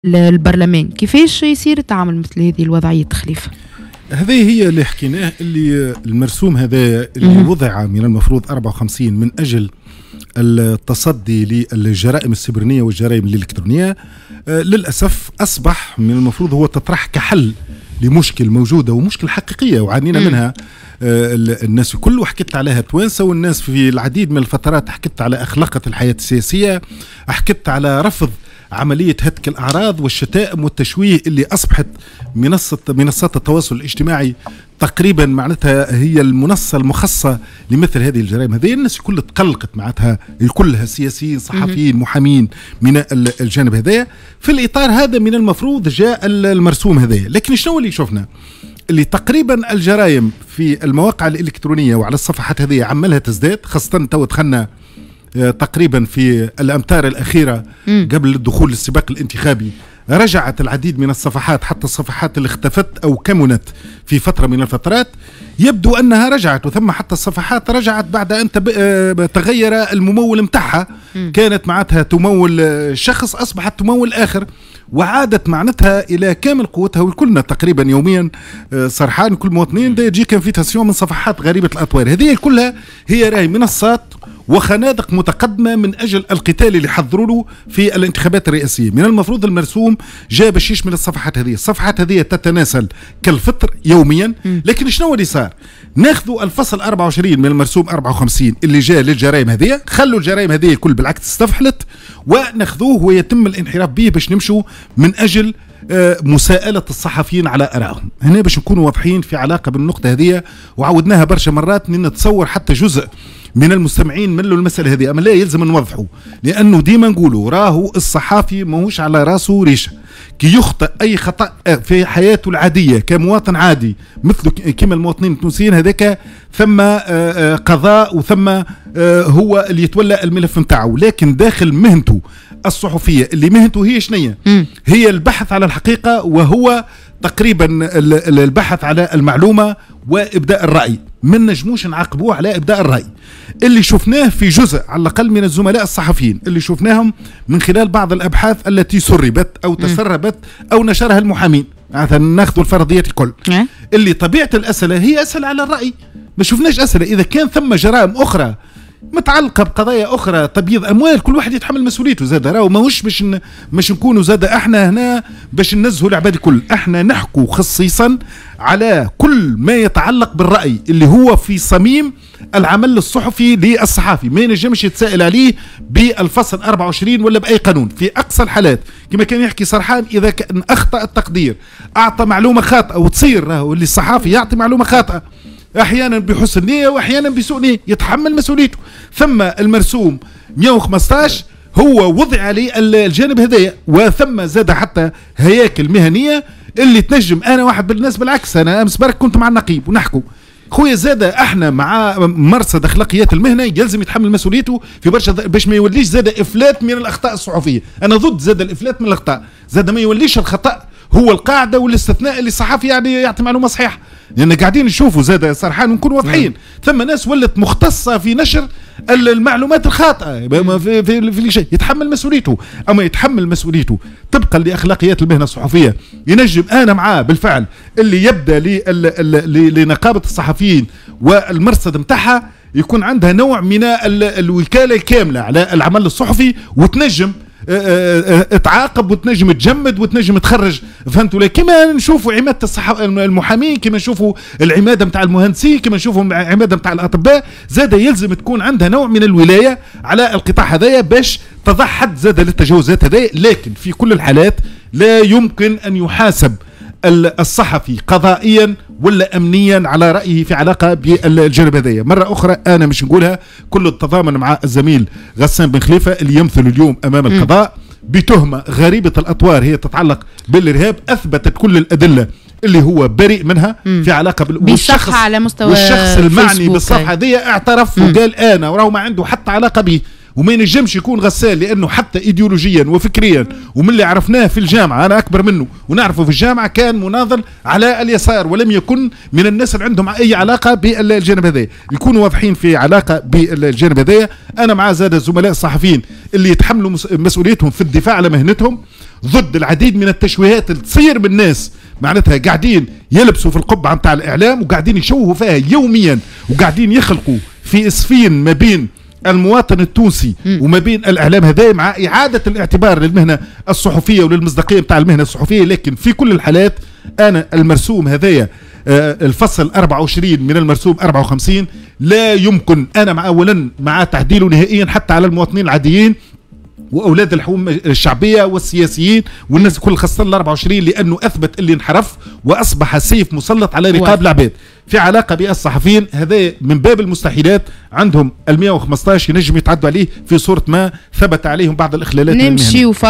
البرلمان. كيفاش يصير التعامل مثل هذه الوضعية خليفة؟ هذه هي اللي حكيناه، اللي المرسوم هذا اللي وضع من المفروض 54 من أجل التصدي للجرائم السبرنية والجرائم الإلكترونية، للأسف أصبح من المفروض هو تطرح كحل لمشكل موجودة ومشكلة حقيقية وعانينا منها الناس الكل، وحكيت عليها توانسة والناس في العديد من الفترات، حكيت على أخلاقة الحياة السياسية، حكيت على رفض عملية هتك الأعراض والشتائم والتشويه اللي أصبحت منصات التواصل الاجتماعي تقريبا معناتها هي المنصة المخصصة لمثل هذه الجرائم. هذه الناس الكل تقلقت معناتها، الكلها سياسيين صحفيين محامين من الجانب هذايا. في الإطار هذا من المفروض جاء المرسوم هذايا، لكن شنو اللي شفنا؟ اللي تقريبا الجرائم في المواقع الإلكترونية وعلى الصفحات هذه عملها تزداد، خاصة تو دخلنا تقريبا في الأمتار الأخيرة قبل الدخول للسباق الانتخابي، رجعت العديد من الصفحات، حتى الصفحات اللي اختفت أو كمنت في فترة من الفترات يبدو أنها رجعت، وثم حتى الصفحات رجعت بعد أن تغير الممول متاعها، كانت معناتها تمول شخص أصبحت تمول آخر، وعادت معناتها إلى كامل قوتها. وكلنا تقريبا يوميا سرحان كل مواطنين يجيك invitation من صفحات غريبة الأطوار. هذه كلها هي راهي منصات وخنادق متقدمة من أجل القتال اللي حضروا له في الانتخابات الرئاسية. من المفروض المرسوم جاء باش يشمل الصفحات هذه، الصفحات هذه تتناسل كالفطر يوميا. لكن شنو اللي صار؟ ناخذوا الفصل 24 من المرسوم 54 اللي جاء للجرائم هذه، خلوا الجرائم هذه الكل بالعكس استفحلت، وناخذوه ويتم الانحراف به باش نمشوا من أجل مساءلة الصحفيين على آرائهم. هنا باش نكونوا واضحين في علاقة بالنقطة هذه، وعودناها برشا مرات، نتصور حتى جزء من المستمعين ملوا المسألة هذه، أما لا يلزم نوضحوا، لأنه ديما نقولوا راهو الصحافي ماهوش على راسه ريشة، كي يخطئ أي خطأ في حياته العادية كمواطن عادي مثل كما المواطنين التونسيين هذاك، ثم قضاء وثم هو اللي يتولى الملف نتاعو، لكن داخل مهنته الصحفية اللي مهنته هي شنية؟ هي البحث على الحقيقة، وهو تقريبا البحث على المعلومة وإبداء الرأي، ما نجموش نعاقبوه على إبداء الرأي. اللي شفناه في جزء على الأقل من الزملاء الصحفيين اللي شفناهم من خلال بعض الأبحاث التي سربت أو تسربت أو نشرها المحامين، مثلا ناخذ الفرضيات الكل، اللي طبيعة الأسئلة هي أسئلة على الرأي، ما شفناش أسئلة إذا كان ثم جرائم أخرى متعلقة بقضايا أخرى، تبييض أموال، كل واحد يتحمل مسؤوليته زاد. راهو ماهوش باش نكونوا زاد احنا هنا باش ننزهوا العباد الكل، احنا نحكوا خصيصا على كل ما يتعلق بالرأي اللي هو في صميم العمل الصحفي للصحافي، ما ينجمش يتساءل عليه بالفصل 24 ولا بأي قانون. في أقصى الحالات كما كان يحكي سرحان، إذا كان أخطأ التقدير، أعطى معلومة خاطئة، وتصير راهو اللي الصحافي يعطي معلومة خاطئة احيانا بحسن نيه واحيانا بسوء نيه، يتحمل مسؤوليته. ثم المرسوم 115 هو وضع عليه الجانب هذايا، وثم زاد حتى هياكل مهنية اللي تنجم. انا واحد بالناس بالعكس، انا امس برك كنت مع النقيب ونحكوا خويا زاد احنا مع مرصد اخلاقيات المهنة يلزم يتحمل مسؤوليته في برشا باش ما يوليش زاد افلات من الاخطاء الصحفية. انا ضد زاد الافلات من الاخطاء، زاد ما يوليش الخطا هو القاعدة والاستثناء اللي الصحفي يعني يعطي معلومة صحيحه، لان قاعدين نشوفوا زاد سرحان ونكونوا واضحين، ثم ناس ولت مختصة في نشر المعلومات الخاطئة في شيء، يتحمل مسؤوليته. اما يتحمل مسؤوليته طبقا لاخلاقيات المهنة الصحفية، ينجم انا معاه بالفعل اللي يبدا لنقابه الصحفيين والمرصد نتاعها يكون عندها نوع من الوكالة الكاملة على العمل الصحفي، وتنجم تعاقب وتنجم تجمد وتنجم تخرج، فهمتوا؟ كما نشوفوا عماده المحامين، كما نشوفوا العماده نتاع المهندسين، كما نشوفوا عماده نتاع الاطباء، زاد يلزم تكون عندها نوع من الولاية على القطاع هذايا باش تضع حد زاد للتجاوزات هذايا. لكن في كل الحالات لا يمكن ان يحاسب الصحفي قضائيا ولا امنيا على رايه في علاقة بالجانب هذايا. مرة اخرى انا مش نقولها، كل التضامن مع الزميل غسان بن خليفة اللي يمثل اليوم امام القضاء بتهمه غريبة الاطوار هي تتعلق بالارهاب، اثبتت كل الادلة اللي هو بريء منها في علاقة بالصفحه على مستوى والشخص المعني بالصفحه دي اعترف وقال انا، وراهو ما عنده حتى علاقة به، وما ينجمش يكون غسال لانه حتى ايديولوجيا وفكريا ومن اللي عرفناه في الجامعة، انا اكبر منه ونعرفه في الجامعة، كان مناضل على اليسار ولم يكن من الناس اللي عندهم اي علاقة بالجانب هذا. يكونوا واضحين في علاقة بالجانب هذا. انا مع زاد الزملاء الصحفيين اللي يتحملوا مسؤوليتهم في الدفاع على مهنتهم، ضد العديد من التشويهات اللي تصير بالناس، معناتها قاعدين يلبسوا في القبعة نتاع الاعلام وقاعدين يشوهوا فيها يوميا، وقاعدين يخلقوا في اسفين ما بين المواطن التونسي وما بين الاعلام هذا، مع اعاده الاعتبار للمهنه الصحفية وللمصداقيه نتاع المهنة الصحفية. لكن في كل الحالات انا المرسوم هذايا الفصل 24 من المرسوم 54 لا يمكن انا مع اولا مع تعديله نهائيا حتى على المواطنين العاديين واولاد الحوم الشعبية والسياسيين والناس الكل، خاصة ال 24، لانه اثبت اللي انحرف واصبح سيف مسلط على رقاب العباد. في علاقة بالصحفيين هذا من باب المستحيلات، عندهم ال 115 ينجم يتعدوا عليه في صوره ما ثبت عليهم بعض الاخلالات. نمشي.